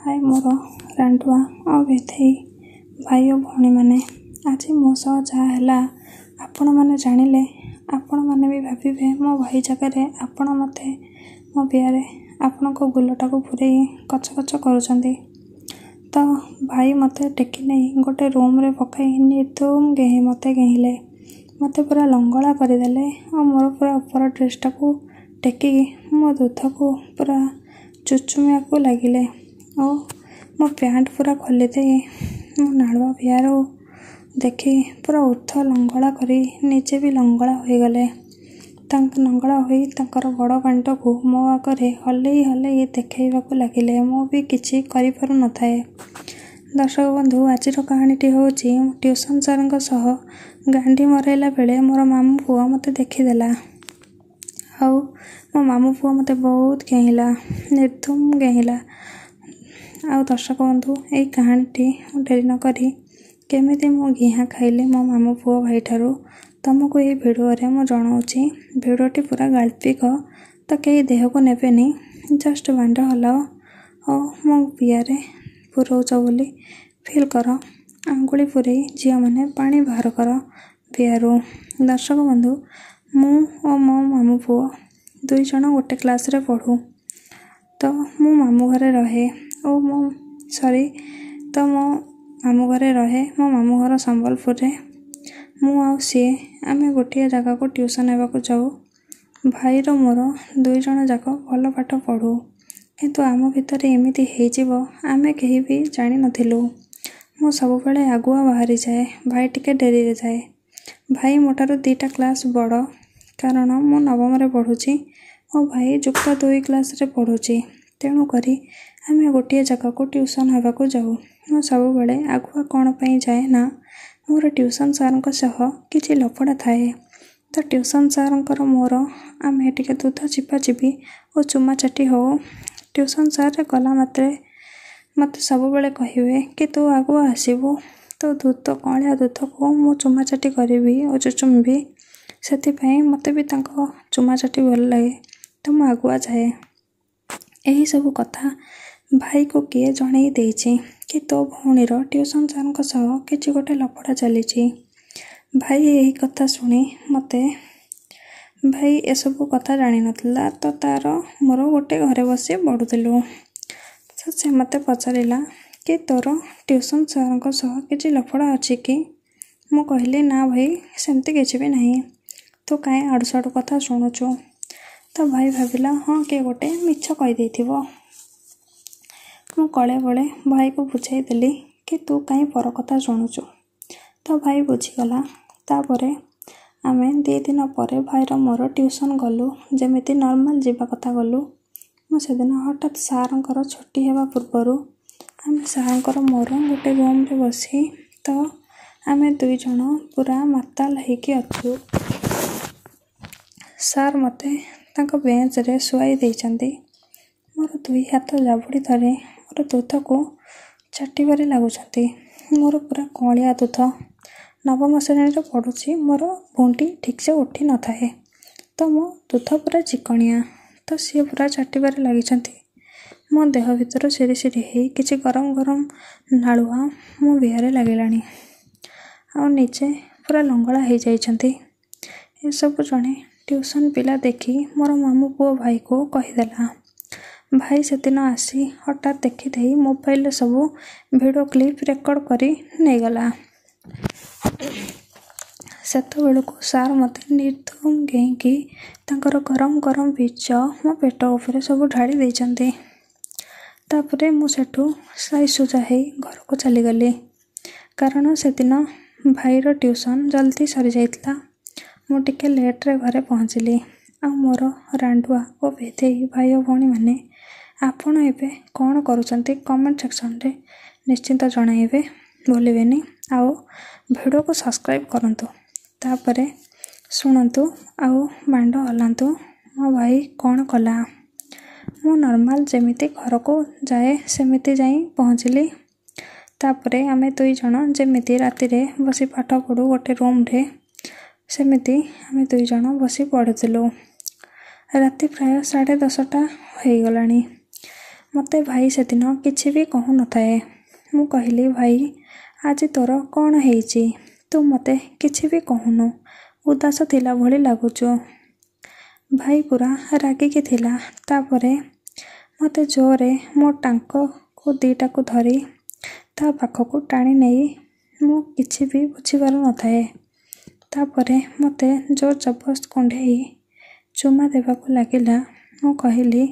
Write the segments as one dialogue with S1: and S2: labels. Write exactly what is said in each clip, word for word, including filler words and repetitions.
S1: ହାଏ ମୋର ରାଣ୍ଡୁଆ ଆଉ ବେଧେଇ ଭାଇ ଓ ଭଉଣୀମାନେ, ଆଜି ମୋ ସହ ଯାହା ହେଲା ଆପଣମାନେ ଜାଣିଲେ ଆପଣମାନେ ବି ଭାବିବେ ମୋ ଭାଇ ଜାଗାରେ ଆପଣ ମୋତେ ମୋ ବିଆରେ ଆପଣଙ୍କ ଗୁଲଟାକୁ ପୂରେଇ କଚକଚ କରୁଛନ୍ତି। ତ ଭାଇ ମୋତେ ଟେକି ନେଇ ଗୋଟେ ରୁମ୍ରେ ପକାଇ ନିର୍ଧୁମ ଗେହିଁ ମୋତେ ଗେହିଁଲେ, ମୋତେ ପୁରା ଲଙ୍ଗଳା କରିଦେଲେ ଆଉ ମୋର ପୁରା ଉପର ଡ୍ରେସ୍ଟାକୁ ଟେକିକି ମୋ ଦୁଧକୁ ପୁରା ଚୁଚୁମିବାକୁ ଲାଗିଲେ ଓ ମୋ ପ୍ୟାଣ୍ଟ ପୁରା ଖୋଲିଦେଇ ମୋ ନାଳୁଆ ବିଆରୁ ଦେଖି ପୁରା ଉର୍ଦ୍ଧ୍ୱ ଲଙ୍ଗଳା କରି ନିଜେ ବି ଲଙ୍ଗଳା ହୋଇଗଲେ। ତାଙ୍କ ଲଙ୍ଗଳା ହୋଇ ତାଙ୍କର ବଡ଼ ବାଣ୍ଡକୁ ମୋ ଆଗରେ ହଲେଇ ହଲେଇ ଦେଖାଇବାକୁ ଲାଗିଲେ। ମୁଁ ବି କିଛି କରିପାରୁନଥାଏ। ଦର୍ଶକ ବନ୍ଧୁ, ଆଜିର କାହାଣୀଟି ହେଉଛି ମୁଁ ଟ୍ୟୁସନ୍ ସାର୍ଙ୍କ ସହ ଗାଣ୍ଡି ମରାଇଲା ବେଳେ ମୋର ମାମୁଁ ପୁଅ ମୋତେ ଦେଖିଦେଲା ଆଉ ମୋ ମାମୁଁ ପୁଅ ମୋତେ ବହୁତ ଗେହିଁଲା, ନିର୍ଧୁମ ଗେହିଁଲା। ଆଉ ଦର୍ଶକ ବନ୍ଧୁ, ଏଇ କାହାଣୀଟି ମୁଁ ଡେରି ନକରି କେମିତି ମୁଁ ଗିହା ଖାଇଲି ମୋ ମାମୁଁ ପୁଅ ଭାଇଠାରୁ ତମକୁ ଏଇ ଭିଡ଼ିଓରେ ମୁଁ ଜଣାଉଛି। ଭିଡ଼ିଓଟି ପୁରା ଗାଳ୍ପିକ, ତ କେହି ଦେହକୁ ନେବେନି, ଜଷ୍ଟ ବାଣ୍ଡ ହଲାଅ ଓ ମୋ ବିଆରେ ପୁରଉଛ ବୋଲି ଫିଲ୍ କର, ଆଙ୍ଗୁଳି ପୂରେଇ ଝିଅମାନେ ପାଣି ବାହାର କର ବିଆରୁ। ଦର୍ଶକ ବନ୍ଧୁ, ମୁଁ ଓ ମୋ ମାମୁଁ ପୁଅ ଦୁଇ ଜଣ ଗୋଟେ କ୍ଲାସ୍ରେ ପଢ଼ୁ। ତ ମୁଁ ମାମୁଁ ଘରେ ରହେ ଓ ମୋ ସରି ତ ମୋ ମାମୁଁ ଘରେ ରହେ। ମୋ ମାମୁଁ ଘର ସମ୍ବଲପୁରରେ। ମୁଁ ଆଉ ସିଏ ଆମେ ଗୋଟିଏ ଜାଗାକୁ ଟ୍ୟୁସନ୍ ହେବାକୁ ଯାଉ। ଭାଇର ମୋର ଦୁଇ ଜଣ ଯାକ ଭଲ ପାଠ ପଢ଼ୁ, କିନ୍ତୁ ଆମ ଭିତରେ ଏମିତି ହେଇଯିବ ଆମେ କେହି ବି ଜାଣିନଥିଲୁ। ମୁଁ ସବୁବେଳେ ଆଗୁଆ ବାହାରିଯାଏ, ଭାଇ ଟିକେ ଡେରିରେ ଯାଏ। ଭାଇ ମୋ ଠାରୁ ଦୁଇଟା କ୍ଲାସ୍ ବଡ଼, କାରଣ ମୁଁ ନବମରେ ପଢ଼ୁଛି ଓ ଭାଇ ଯୁକ୍ତ ଦୁଇ କ୍ଲାସ୍ରେ ପଢ଼ୁଛି। ତେଣୁକରି ଆମେ ଗୋଟିଏ ଜାଗାକୁ ଟ୍ୟୁସନ୍ ହେବାକୁ ଯାଉ। ମୁଁ ସବୁବେଳେ ଆଗୁଆ କ'ଣ ପାଇଁ ଯାଏ ନା, ମୋର ଟ୍ୟୁସନ୍ ସାର୍ଙ୍କ ସହ କିଛି ଲଫଡ଼ା ଥାଏ। ତ ଟ୍ୟୁସନ୍ ସାର୍ଙ୍କର ମୋର ଆମେ ଟିକେ ଦୁଧ ଚିପାଚିପି ଓ ଚୁମାଚାଟି ହେଉ। ଟ୍ୟୁସନ୍ ସାର୍ ଗଲା ମାତ୍ରେ ମୋତେ ସବୁବେଳେ କହିବେ କି ତୁ ଆଗୁଆ ଆସିବୁ, ତୋ ଦୁଧ କଅଁଳିଆ ଦୁଧକୁ ମୁଁ ଚୁମାଚାଟି କରିବି ଓ ଚୁଚୁମିବି। ସେଥିପାଇଁ ମୋତେ ବି ତାଙ୍କ ଚୁମାଚାଟି ଭଲ ଲାଗେ, ତ ମୁଁ ଆଗୁଆ ଯାଏ। ଏହିସବୁ କଥା ଭାଇକୁ କିଏ ଜଣେଇ ଦେଇଛି କି ତୋ ଭଉଣୀର ଟ୍ୟୁସନ୍ ସାର୍ଙ୍କ ସହ କିଛି ଗୋଟେ ଲଫଡ଼ା ଚାଲିଛି। ଭାଇ ଏହି କଥା ଶୁଣି ମୋତେ ଭାଇ ଏସବୁ କଥା ଜାଣିନଥିଲା, ତ ତାର ମୋର ଗୋଟେ ଘରେ ବସି ପଢ଼ୁଥିଲୁ। ତ ସେ ମୋତେ ପଚାରିଲା କି ତୋର ଟ୍ୟୁସନ୍ ସାର୍ଙ୍କ ସହ କିଛି ଲଫଡ଼ା ଅଛି କି? ମୁଁ କହିଲି ନା ଭାଇ, ସେମିତି କିଛି ବି ନାହିଁ, ତୁ କାହିଁ ଆଡ଼ୁସାଡ଼ୁ କଥା ଶୁଣୁଛୁ। ତ ଭାଇ ଭାବିଲା ହଁ କିଏ ଗୋଟେ ମିଛ କହିଦେଇଥିବ। ମୁଁ କଳେ ବଳେ ଭାଇକୁ ବୁଝାଇଦେଲି କି ତୁ କାହିଁ ପର କଥା ଶୁଣୁଛୁ। ତ ଭାଇ ବୁଝିଗଲା। ତାପରେ ଆମେ ଦୁଇ ଦିନ ପରେ ଭାଇର ମୋର ଟ୍ୟୁସନ୍ ଗଲୁ, ଯେମିତି ନର୍ମାଲ୍ ଯିବା କଥା ଗଲୁ। ମୁଁ ସେଦିନ ହଠାତ୍ ସାର୍ଙ୍କର ଛୁଟି ହେବା ପୂର୍ବରୁ ଆମେ ସାର୍ଙ୍କର ମୋର ଗୋଟେ ରୁମ୍ରେ ବସି ତ ଆମେ ଦୁଇ ଜଣ ପୁରା ମାତାଲ ହେଇକି ଅଛୁ। ସାର୍ ମୋତେ ତାଙ୍କ ବେଞ୍ଚରେ ଶୁଆଇ ଦେଇଛନ୍ତି, ମୋର ଦୁଇ ହାତ ଜାବୁଡ଼ି ଧରି ମୋର ଦୁଧକୁ ଚାଟିବାରେ ଲାଗୁଛନ୍ତି। ମୋର ପୁରା କଅଁଳିଆ ଦୁଧ, ନବମ ଶ୍ରେଣୀରେ ପଢ଼ୁଛି, ମୋର ଭୁଣ୍ଡି ଠିକ୍ସେ ଉଠି ନଥାଏ, ତ ମୋ ଦୁଧ ପୁରା ଚିକଣିଆ, ତ ସିଏ ପୁରା ଚାଟିବାରେ ଲାଗିଛନ୍ତି। ମୋ ଦେହ ଭିତରୁ ସିରି ସିରି ହେଇ କିଛି ଗରମ ଗରମ ନାଳୁଆ ମୋ ବିଆରେ ଲାଗିଲାଣି ଆଉ ନିଜେ ପୁରା ଲଙ୍ଗଳା ହେଇଯାଇଛନ୍ତି। ଏସବୁ ଜଣେ ଟ୍ୟୁସନ୍ ପିଲା ଦେଖି ମୋର ମାମୁଁ ପୁଅ ଭାଇକୁ କହିଦେଲା। ଭାଇ ସେଦିନ ଆସି ହଠାତ୍ ଦେଖିଦେଇ ମୋବାଇଲରେ ସବୁ ଭିଡ଼ିଓ କ୍ଲିପ୍ ରେକର୍ଡ଼ କରି ନେଇଗଲା। ସେତେବେଳକୁ ସାର୍ ମୋତେ ନିର୍ଧୁମ ଗେହିଁକି ତାଙ୍କର ଗରମ ଗରମ ବୀଜ ମୋ ପେଟ ଉପରେ ସବୁ ଢାଳି ଦେଇଛନ୍ତି। ତାପରେ ମୁଁ ସେଠୁ ସାଇସୁଜା ହେଇ ଘରକୁ ଚାଲିଗଲି, କାରଣ ସେଦିନ ଭାଇର ଟ୍ୟୁସନ୍ ଜଲ୍ଦି ସରିଯାଇଥିଲା। ମୁଁ ଟିକେ ଲେଟ୍ରେ ଘରେ ପହଞ୍ଚିଲି। ଆଉ ମୋର ରାଣ୍ଡୁଆ ଓ ବେଧେଇ ଭାଇ ଓ ଭଉଣୀମାନେ, ଆପଣ ଏବେ କ'ଣ କରୁଛନ୍ତି କମେଣ୍ଟ ସେକ୍ସନରେ ନିଶ୍ଚିନ୍ତ ଜଣାଇବେ, ଭୁଲିବେନି। ଆଉ ଭିଡ଼ିଓକୁ ସବସ୍କ୍ରାଇବ୍ କରନ୍ତୁ। ତାପରେ ଶୁଣନ୍ତୁ ଆଉ ବାଣ୍ଡ ହଲାନ୍ତୁ ମୋ ଭାଇ କ'ଣ କଲା। ମୁଁ ନର୍ମାଲ୍ ଯେମିତି ଘରକୁ ଯାଏ ସେମିତି ଯାଇ ପହଞ୍ଚିଲି। ତାପରେ ଆମେ ଦୁଇ ଜଣ ଯେମିତି ରାତିରେ ବସି ପାଠ ପଢ଼ୁ ଗୋଟେ ରୁମ୍ରେ, ସେମିତି ଆମେ ଦୁଇ ଜଣ ବସି ପଢ଼ୁଥିଲୁ। ରାତି ପ୍ରାୟ ସାଢ଼େ ଦଶଟା ହେଇଗଲାଣି। ମୋତେ ଭାଇ ସେଦିନ କିଛି ବି କହୁନଥାଏ। ମୁଁ କହିଲି, ଭାଇ ଆଜି ତୋର କ'ଣ ହେଇଛି, ତୁ ମୋତେ କିଛି ବି କହୁନୁ, ଉଦାସ ଥିଲା ଭଳି ଲାଗୁଛୁ। ଭାଇ ପୁରା ରାଗିକି ଥିଲା। ତାପରେ ମୋତେ ଜୋରରେ ମୋ ଟାଙ୍କକୁ ଦୁଇଟାକୁ ଧରି ତା ପାଖକୁ ଟାଣି ନେଇ ମୁଁ କିଛି ବି ବୁଝିପାରୁନଥାଏ। ତାପରେ ମୋତେ ଜୋର ଜବରଦସ୍ତ କୁଣ୍ଢେଇ ଚୁମା ଦେବାକୁ ଲାଗିଲା। ମୁଁ କହିଲି,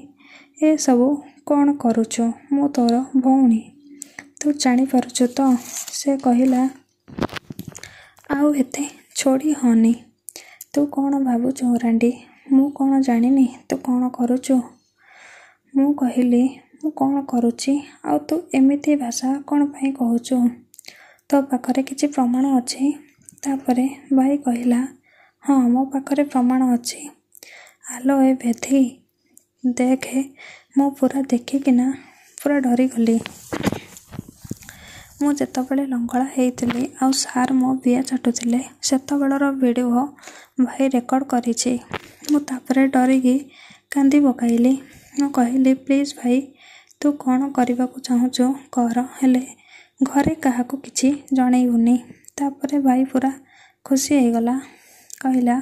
S1: ଏସବୁ କ'ଣ କରୁଛୁ, ମୁଁ ତୋର ଭଉଣୀ, ତୁ ଜାଣିପାରୁଛୁ ତ? ସେ କହିଲା, ଆଉ ଏତେ ଛୋଡ଼ି ହଅନି, ତୁ କ'ଣ ଭାବୁଛୁ ରାଣ୍ଡି, ମୁଁ କ'ଣ ଜାଣିନି ତୁ କ'ଣ କରୁଛୁ? ମୁଁ କହିଲି, ମୁଁ କ'ଣ କରୁଛି ଆଉ ତୁ ଏମିତି ଭାଷା କ'ଣ ପାଇଁ କହୁଛୁ, ତୋ ପାଖରେ କିଛି ପ୍ରମାଣ ଅଛି? ତାପରେ ଭାଇ କହିଲା, ହଁ ମୋ ପାଖରେ ପ୍ରମାଣ ଅଛି। ଆଲୋ ଏ ବେଧେଇ ଦେଖେ, ମୁଁ ପୁରା ଦେଖିକିନା ପୁରା ଡରିଗଲି। ମୁଁ ଯେତେବେଳେ ଲଙ୍ଗଳା ହେଇଥିଲି ଆଉ ସାର୍ ମୋ ବିଆ ଚାଟୁଥିଲେ, ସେତେବେଳର ଭିଡ଼ିଓ ଭାଇ ରେକର୍ଡ଼ କରିଛି। ମୁଁ ତାପରେ ଡରିକି କାନ୍ଦି ପକାଇଲି। ମୁଁ କହିଲି, ପ୍ଲିଜ୍ ଭାଇ, ତୁ କ'ଣ କରିବାକୁ ଚାହୁଁଛୁ କର, ହେଲେ ଘରେ କାହାକୁ କିଛି ଜଣେଇବୁନି। ତାପରେ ଭାଇ ପୁରା ଖୁସି ହେଇଗଲା, କହିଲା,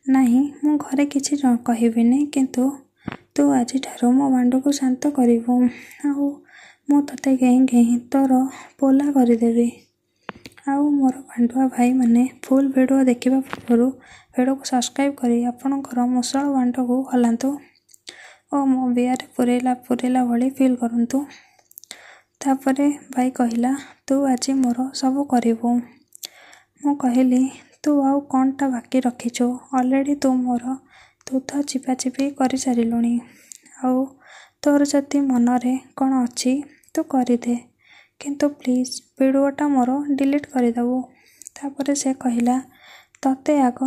S1: ନାହିଁ ମୁଁ ଘରେ କିଛି କହିବିନି, କିନ୍ତୁ ତୁ ଆଜିଠାରୁ ମୋ ବାଣ୍ଡକୁ ଶାନ୍ତ କରିବୁ, ଆଉ ମୁଁ ତୋତେ ଗେହିଁ ଗେହିଁ ତୋର ପୋଲା କରିଦେବି। ଆଉ ମୋର ବାଣ୍ଡୁଆ ଭାଇମାନେ ଫୁଲ୍ ଭିଡ଼ିଓ ଦେଖିବା ପୂର୍ବରୁ ଭିଡ଼ିଓକୁ ସବସ୍କ୍ରାଇବ୍ କରି ଆପଣଙ୍କର ମୂଷଳ ବାଣ୍ଡକୁ ହଲାନ୍ତୁ ଓ ମୋ ବିଆରେ ପୂରେଇଲା ପୂରେଇଲା ଭଳି ଫିଲ୍ କରନ୍ତୁ। ତାପରେ ଭାଇ କହିଲା, ତୁ ଆଜି ମୋର ସବୁ କରିବୁ। ମୁଁ କହିଲି, ତୁ ଆଉ କ'ଣଟା ବାକି ରଖିଛୁ, ଅଲରେଡ଼ି ତୁ ମୋର ଦୁଧ ଚିପାଚିପି କରିସାରିଲୁଣି, ଆଉ ତୋର ଯଦି ମନରେ କ'ଣ ଅଛି ତୁ କରିଦେ, କିନ୍ତୁ ପ୍ଲିଜ୍ ଭିଡ଼ିଓଟା ମୋର ଡିଲିଟ୍ କରିଦେବୁ। ତାପରେ ସେ କହିଲା, ତତେ ଆଗ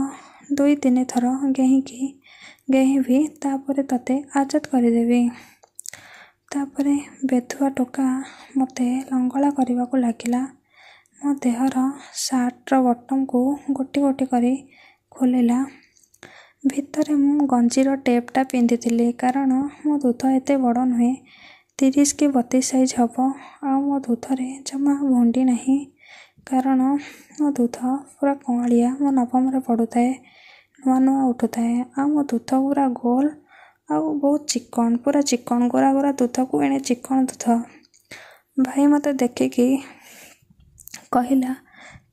S1: ଦୁଇ ତିନି ଥର ଗେହିଁକି ଗେହିଁବି, ତାପରେ ତତେ ଆଜାଦ କରିଦେବି। ତାପରେ ବେଧୁଆ ଟୋକା ମୋତେ ଲଙ୍ଗଳା କରିବାକୁ ଲାଗିଲା। ମୋ ଦେହର ସାର୍ଟର ବଟନ୍କୁ ଗୋଟି ଗୋଟି କରି ଖୋଲିଲା। ଭିତରେ ମୁଁ ଗଞ୍ଜିର ଟେପ୍ଟା ପିନ୍ଧିଥିଲି, କାରଣ ମୋ ଦୁଧ ଏତେ ବଡ଼ ନୁହେଁ, ତିରିଶ କି ବତିଶ ସାଇଜ୍ ହେବ। ଆଉ ମୋ ଦୁଧରେ ଜମା ଭୁଣ୍ଡି ନାହିଁ, କାରଣ ମୋ ଦୁଧ ପୁରା କଅଁଳିଆ। ମୁଁ ନବମରେ ପଢ଼ୁଥାଏ, ନୂଆ ନୂଆ ଉଠୁଥାଏ, ଆଉ ମୋ ଦୁଧ ପୁରା ଗୋଲ ଆଉ ବହୁତ ଚିକଣ, ପୁରା ଚିକଣ, ଗୋରା ଗୋରା ଦୁଧକୁ ଏଣେ ଚିକଣ ଦୁଧ। ଭାଇ ମୋତେ ଦେଖିକି କହିଲା,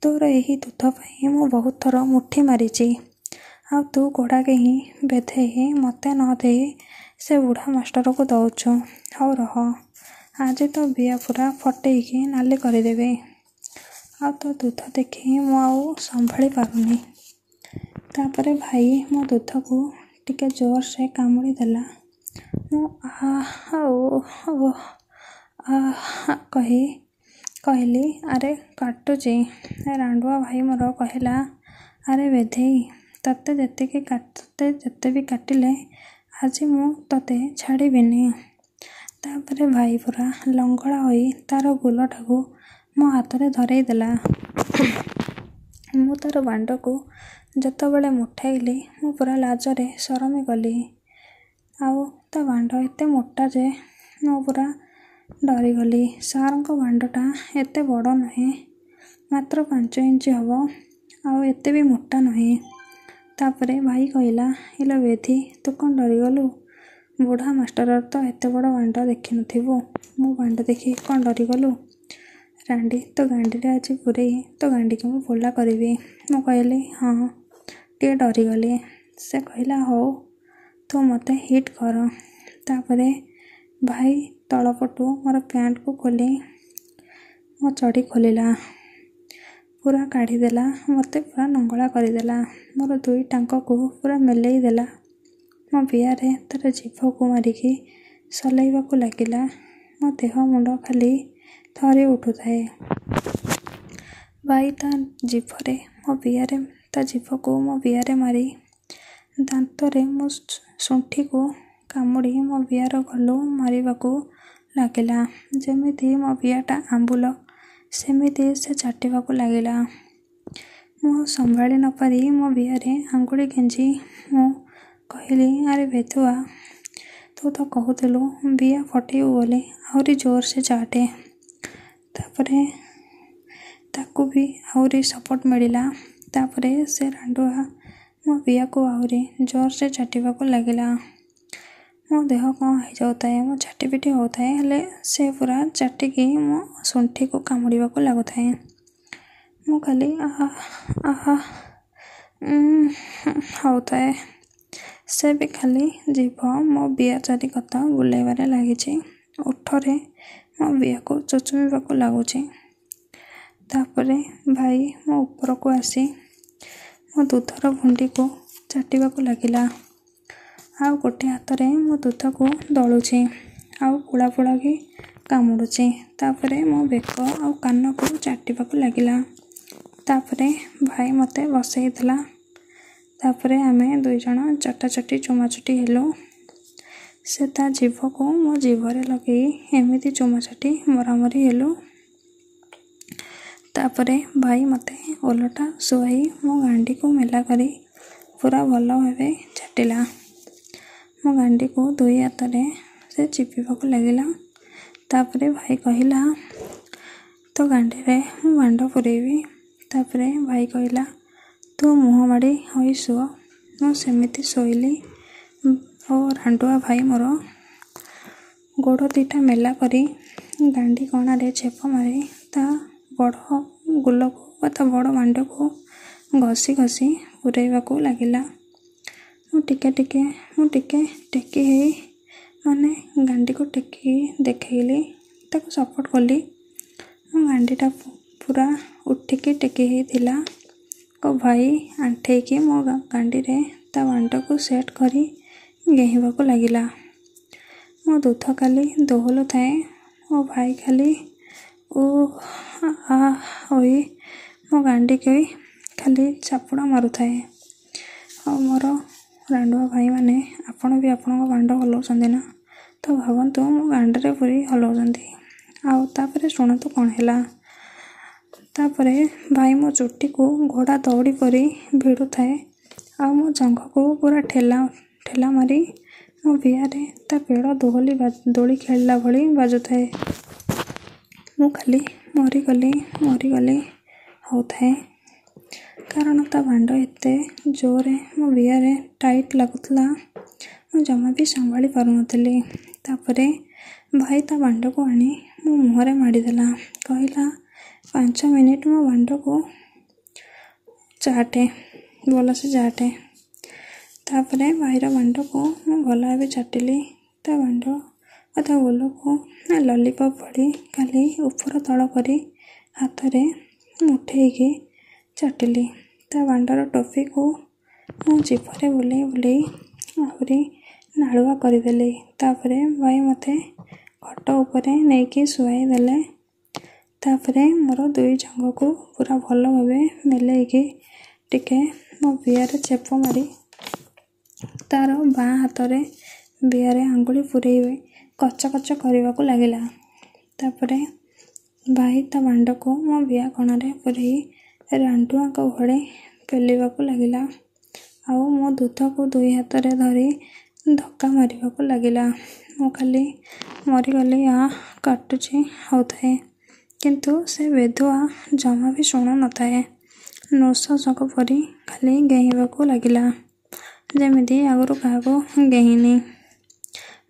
S1: ତୋର ଏହି ଦୁଧ ପାଇଁ ମୁଁ ବହୁତ ଥର ମୁଠି ମାରିଛି, ଆଉ ତୁ ଘୋଡ଼ା ଗେହିଁ ବେଧେଇ ମୋତେ ନ ଦେଇ ସେ ବୁଢ଼ା ମାଷ୍ଟରକୁ ଦେଉଛୁ। ହଉ ରହ, ଆଜି ତୋ ବିଆ ପୁରା ଫଟେଇକି ନାଲି କରିଦେବି, ଆଉ ତୋ ଦୁଧ ଦେଖି ମୁଁ ଆଉ ସମ୍ଭାଳି ପାରୁନି। ତାପରେ ଭାଇ ମୋ ଦୁଧକୁ ଟିକେ ଜୋରସେ କାମୁଡ଼ି ଦେଲା। ମୁଁ ଆଃ ଓଃ ଆଃ କହି କହିଲି, ଆରେ କାଟୁଛି। ରାଣ୍ଡୁଆ ଭାଇ ମୋର କହିଲା, ଆରେ ବେଧେଇ, ତତେ ଯେତିକି ତତେ ଯେତେ ବି କାଟିଲେ ଆଜି ମୁଁ ତତେ ଛାଡ଼ିବିନି। ତାପରେ ଭାଇ ପୁରା ଲଙ୍ଗଳା ହୋଇ ତାର ଗୁଲଟାକୁ ମୋ ହାତରେ ଧରେଇ ଦେଲା। ମୁଁ ତାର ବାଣ୍ଡକୁ ଯେତେବେଳେ ମୁଠେଇଲି, ମୁଁ ପୁରା ଲାଜରେ ସରମି ଗଲି। ଆଉ ତା ବାଣ୍ଡ ଏତେ ମୋଟା ଯେ ମୁଁ ପୁରା ଡରିଗଲି। ସାର୍ଙ୍କ ବାଣ୍ଡଟା ଏତେ ବଡ଼ ନୁହେଁ, ମାତ୍ର ପାଞ୍ଚ ଇଞ୍ଚ ହେବ, ଆଉ ଏତେ ବି ମୋଟା ନୁହେଁ। ତାପରେ ଭାଇ କହିଲା, ଇଲୋ ବେଧି, ତୁ କ'ଣ ଡରିଗଲୁ? ବୁଢ଼ା ମାଷ୍ଟରର ତ ଏତେ ବଡ଼ ବାଣ୍ଡ ଦେଖିନଥିବୁ, ମୋ ବାଣ୍ଡ ଦେଖି କ'ଣ ଡରିଗଲୁ? ରାଣ୍ଡି, ତୋ ଗାଣ୍ଡିରେ ଆଜି ପୂରେଇ ତୋ ଗାଣ୍ଡିକୁ ମୁଁ ପୋଲା କରିବି। ମୁଁ କହିଲି, ହଁ ଟିକେ ଡରିଗଲି। ସେ କହିଲା, ହଉ ତୁ ମୋତେ ହିଟ୍ କର। ତାପରେ ଭାଇ ତଳପଟୁ ମୋର ପ୍ୟାଣ୍ଟକୁ ଖୋଲି ମୋ ଚଡ଼ି ଖୋଲିଲା, ପୁରା କାଢ଼ିଦେଲା, ମୋତେ ପୁରା ନଙ୍ଗଳା କରିଦେଲା, ମୋର ଦୁଇ ଟାଙ୍କକୁ ପୁରା ମେଲେଇ ଦେଲା। ମୋ ବିଆରେ ତାର ଜିଭକୁ ମାରିକି ସଲେଇବାକୁ ଲାଗିଲା। ମୋ ଦେହ ମୁଣ୍ଡ ଖାଲି ଥରି ଉଠୁଥାଏ। ଭାଇ ତା ଜିଭରେ ମୋ ବିଆରେ ତା ଜିଭକୁ ମୋ ବିଆରେ ମାରି ଦାନ୍ତରେ ମୋ ଶୁଣ୍ଠିକୁ କାମୁଡ଼ି ମୋ ବିଆର ଗଲୁ ମାରିବାକୁ ଲାଗିଲା। ଯେମିତି ମୋ ବିଆଟା ଆମ୍ବୁଲ, ସେମିତି ସେ ଚାଟିବାକୁ ଲାଗିଲା। ମୁଁ ସମ୍ଭାଳି ନପାରି ମୋ ବିଆରେ ଆଙ୍ଗୁଳି ଗେଞ୍ଜି ମୁଁ କହିଲି, ଆରେ ବେଧୁଆ, ତୁ ତୁ ତ କହୁଥିଲୁ ବିଆ ଫଟେଇବୁ ବୋଲି, ଆହୁରି ଜୋରସେ ଚାଟେ। ତାପରେ ତାକୁ ବି ଆହୁରି ସପୋର୍ଟ ମିଳିଲା। ତାପରେ ସେ ରାଣ୍ଡୁଆ ମୋ ବିଆକୁ ଆହୁରି ଜୋରସେ ଚାଟିବାକୁ ଲାଗିଲା। ମୋ ଦେହ କ'ଣ ହେଇଯାଉଥାଏ, ମୁଁ ଛାଟିପିଟି ହେଉଥାଏ, ହେଲେ ସେ ପୁରା ଚାଟିକି ମୋ ଶୁଣ୍ଠିକୁ କାମୁଡ଼ିବାକୁ ଲାଗୁଥାଏ। ମୁଁ ଖାଲି ଆହା ଆହା ହେଉଥାଏ। ସେ ବି ଖାଲି ଜିଭ ମୋ ବିଆ ଚାରିକତ ବୁଲେଇବାରେ ଲାଗିଛି, ଓଠରେ ମୋ ବିଆକୁ ଚୁଚୁମିବାକୁ ଲାଗୁଛି। ତାପରେ ଭାଇ ମୋ ଉପରକୁ ଆସି ମୋ ଦୁଧର ଭୁଣ୍ଡିକୁ ଚାଟିବାକୁ ଲାଗିଲା। ଆଉ ଗୋଟେ ହାତରେ ମୋ ଦୁଧକୁ ଦଳୁଛି ଆଉ ପୁଳା ପୁଳାକି କାମୁଡ଼ୁଛି। ତାପରେ ମୋ ବେକ ଆଉ କାନକୁ ଚାଟିବାକୁ ଲାଗିଲା। ତାପରେ ଭାଇ ମୋତେ ବସେଇଦେଲା। ତାପରେ ଆମେ ଦୁଇ ଜଣ ଚଟାଚଟି ଚୁମାଚୁଟି ହେଲୁ। ସେ ତା ଜିଭକୁ ମୋ ଜିଭରେ ଲଗେଇ ଏମିତି ଚୁମାଚାଟି ମରାମରି ହେଲୁ। ତାପରେ ଭାଇ ମୋତେ ଓଲଟା ଶୁଆଇ ମୋ ଗାଣ୍ଡିକୁ ମେଲା କରି ପୁରା ଭଲ ଭାବେ ଚାଟିଲା। ମୋ ଗାଣ୍ଡିକୁ ଦୁଇ ହାତରେ ସେ ଚିପିବାକୁ ଲାଗିଲା। ତାପରେ ଭାଇ କହିଲା, ତୋ ଗାଣ୍ଡିରେ ମୁଁ ବାଣ୍ଡ ପୂରେଇବି। ତାପରେ ଭାଇ କହିଲା, ତୁ ମୁହଁ ମାଡ଼ି ହୋଇ ଶୁଅ। ମୁଁ ସେମିତି ଶୋଇଲି ଓ ରାଣ୍ଡୁଆ ଭାଇ ମୋର ଗୋଡ଼ ଦୁଇଟା ମେଲା କରି ଗାଣ୍ଡି କଣାରେ ଛେପ ମାରି ତା ବଡ଼ ଗୁଲକୁ ବା ତା ବଡ଼ ବାଣ୍ଡକୁ ଘଷି ଘଷି ପୂରେଇବାକୁ ଲାଗିଲା। ମୁଁ ଟିକେ ଟିକେ ମୁଁ ଟିକେ ଟେକି ହେଇ, ମାନେ ଗାଣ୍ଡିକୁ ଟେକି ଦେଖେଇଲି, ତାକୁ ସପୋର୍ଟ କଲି। ମୋ ଗାଣ୍ଡିଟା ପୁରା ଉଠିକି ଟେକି ହେଇଥିଲା ଓ ଭାଇ ଆଣ୍ଠେଇକି ମୋ ଗାଣ୍ଡିରେ ତା ବାଣ୍ଡକୁ ସେଟ୍ କରି ଗେହିବାକୁ ଲାଗିଲା। ମୋ ଦୁଧ ଖାଲି ଦୋହଲୁଥାଏ ଓ ଭାଇ ଖାଲି ଓ ଆ ହୋଇ ମୋ ଗାଣ୍ଡିକି ଖାଲି ଚାପୁଡ଼ା ମାରୁଥାଏ। ଆଉ ମୋର ରାଣ୍ଡୁଆ ଭାଇମାନେ, ଆପଣ ବି ଆପଣଙ୍କ ବାଣ୍ଡ ହଲାଉଛନ୍ତି ନା? ତ ଭାବନ୍ତୁ ମୋ ଗାଣ୍ଡିରେ ପୂରେଇ ହଲାଉଛନ୍ତି। ଆଉ ତାପରେ ଶୁଣନ୍ତୁ କ'ଣ ହେଲା। ତାପରେ ଭାଇ ମୋ ଚୁଟିକୁ ଘୋଡ଼ା ଦଉଡ଼ି ପରି ଭିଡ଼ୁଥାଏ ଆଉ ମୋ ଜଙ୍ଘକୁ ପୁରା ଠେଲା ଠେଲା ମାରି ମୋ ବିଆରେ ତା ପେଡ଼ ଦୋହଲି ଦୋଳି ଖେଳିଲା ଭଳି ବାଜୁଥାଏ। ମୁଁ ଖାଲି ମରିଗଲି ମରିଗଲି ହେଉଥାଏ, କାରଣ ତା ବାଣ୍ଡ ଏତେ ଜୋରରେ ମୋ ବିଆରେ ଟାଇଟ୍ ଲାଗୁଥିଲା, ମୁଁ ଜମା ବି ସମ୍ଭାଳି ପାରୁନଥିଲି। ତାପରେ ଭାଇ ତା ବାଣ୍ଡକୁ ଆଣି ମୋ ମୁହଁରେ ମାଡ଼ିଦେଲା। କହିଲା, ପାଞ୍ଚ ମିନିଟ୍ ମୋ ବାଣ୍ଡକୁ ଚାଟେ, ଭଲସେ ଚାଟେ। ତାପରେ ଭାଇର ବାଣ୍ଡକୁ ମୁଁ ଭଲ ଭାବେ ଚାଟିଲି। ତା ବାଣ୍ଡ ବା ତା ଗୋଲକୁ ଲଲିପପ୍ ଭଳି ଖାଲି ଉପର ତଳ କରି ହାତରେ ମୁଠେଇକି ଚାଟିଲି। ତା ବାଣ୍ଡର ଟୋପିକୁ ମୁଁ ଜିଭରେ ବୁଲେଇ ବୁଲେଇ ଆହୁରି ନାଳୁଆ କରିଦେଲି। ତାପରେ ଭାଇ ମୋତେ ଖଟ ଉପରେ ନେଇକି ଶୁଆଇ ଦେଲେ। ତାପରେ ମୋର ଦୁଇ ଜଙ୍ଘକୁ ପୁରା ଭଲ ଭାବେ ମେଲେଇକି ଟିକେ ମୋ ବିଆରେ ଚେପ ମାରି ତାର ବାଁ ହାତରେ ବିଆରେ ଆଙ୍ଗୁଳି ପୂରେଇ କଚ କଚ କରିବାକୁ ଲାଗିଲା। ତାପରେ ଭାଇ ତା ବାଣ୍ଡକୁ ମୋ ବିଆ କଣରେ ପୂରେଇ ରାଣ୍ଡୁଆଙ୍କ ଭଳି ପେଲିବାକୁ ଲାଗିଲା ଆଉ ମୋ ଦୁଧକୁ ଦୁଇ ହାତରେ ଧରି ଧକ୍କା ମାରିବାକୁ ଲାଗିଲା। ମୁଁ ଖାଲି ମରିଗଲି, ଆ କାଟୁଛି ହେଉଥାଏ, କିନ୍ତୁ ସେ ବେଧୁଆ ଜମା ବି ଶୁଣୁନଥାଏ। ନୃଶଂସଙ୍କ ପରି ଖାଲି ଗେହିବାକୁ ଲାଗିଲା, ଯେମିତି ଆଗରୁ କାହାକୁ ଗେହିନି।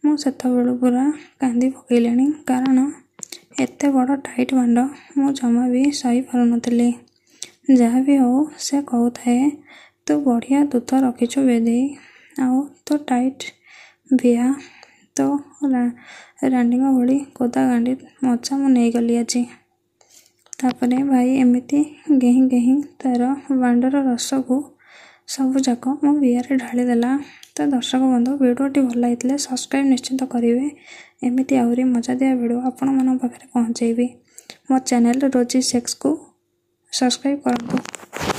S1: ମୁଁ ସେତେବେଳୁ ପୁରା କାନ୍ଦି ପକେଇଲିଣି, କାରଣ ଏତେ ବଡ଼ ଟାଇଟ୍ ବାଣ୍ଡ ମୁଁ ଜମା ବି ସହି ପାରୁନଥିଲି। ଯାହା ବି ହେଉ ସେ କହୁଥାଏ, ତୁ ବଢ଼ିଆ ଦୁଧ ରଖିଛୁ ବେଧେଇ, ଆଉ ତୋ ଟାଇଟ୍ ବିଆ, ତୋ ରାଣ୍ଡିଙ୍କ ଭଳି କୋଦା ଗାଣ୍ଡି ମଜା ମୁଁ ନେଇଗଲି ଆଜି। ତାପରେ ଭାଇ ଏମିତି ଗେହିଁ ଗେହିଁ ତାର ବାଣ୍ଡର ରସକୁ ସବୁଯାକ ମୋ ବିଆରେ ଢାଳିଦେଲା। ତ ଦର୍ଶକ ବନ୍ଧୁ, ଭିଡ଼ିଓଟି ଭଲ ଲାଗିଥିଲେ ସବସ୍କ୍ରାଇବ୍ ନିଶ୍ଚିନ୍ତ କରିବେ। ଏମିତି ଆହୁରି ମଜାଦିଆ ଭିଡ଼ିଓ ଆପଣମାନଙ୍କ ପାଖରେ ପହଞ୍ଚେଇବି। ମୋ ଚ୍ୟାନେଲ୍ ରୋଜି ସେକ୍ସକୁ ସବସ୍କ୍ରାଇବ୍ କରନ୍ତୁ।